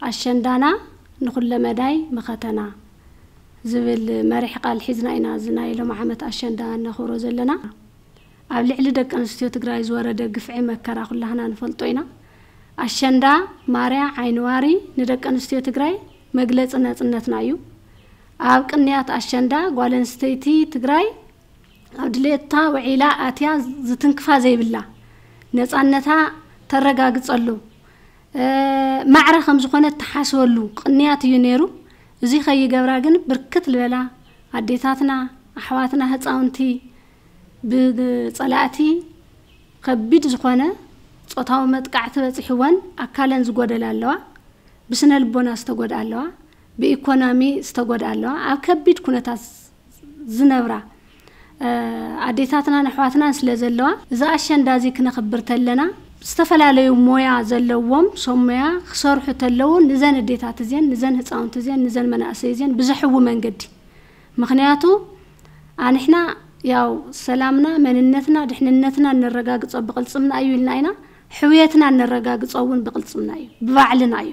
ኣሸንዳና ንኹለ መዳይ መኸተና ዝብል መሪሕ ቃል ሒዝና ኢና እዚ ናይ ሎም ዓመት ኣሸንዳ እነኽብሮ ዘለና። ኣብ ልዕሊ ደቂ ኣንስትዮ ትግራይ ዝወረደ ግፍዒ መከራ ኩላህና ንፈልጦ ኢና። ኣሸንዳ ማርያ ዓይንዋሪ ንደቂ ኣንስትዮ ትግራይ መግለፂ ነፅነትና እዩ። ኣብ ቅንያት ኣሸንዳ ጓል ኣንስተይቲ ትግራይ ኣብ ድሌታ ውዒላ ኣትያ ዝትንክፋ ዘይብላ ነፃነታ ተረጋግፀሉ ማዕረ ከም ዝኾነ እትሓስበሉ ቅንያት እዩ ነይሩ። እዚ ከይገብራ ግን ብርክት ዝበላ ኣዴታትና፣ ኣሕዋትና፣ ህፃውንቲ ብፀላእቲ ከቢድ ዝኾነ ፆታዊ መጥቃዕቲ በፂሕወን ኣካለን ዝጎደላ ኣለዋ፣ ብስነ ልቦና ዝተጎድኣ ኣለዋ፣ ብኢኮኖሚ ዝተጎድኣ ኣለዋ፣ ኣብ ከቢድ ኩነታት ዝነብራ ኣዴታትናን ኣሕዋትናን ስለ ዘለዋ፣ እዚ ኣሸንዳ እዚ ክነኽብር ተለና ዝተፈላለዩ ሞያ ዘለዎም ሰብ ሞያ ክሰርሑ ተለዉ ንዘን ኣዴታት እዚን ንዘን ህፃውንቲ እዚን ንዘን መናእሰይ እዚን ብዘሕዊ መንገዲ። ምኽንያቱ ኣንሕና ያው ሰላምና መንነትና ድሕንነትና እነረጋግጾ ብቕልፅምና እዩ ኢልና ኢና። ሕውየትና እነረጋግጾ እውን ብቕልፅምና እዩ፣ ብባዕልና እዩ።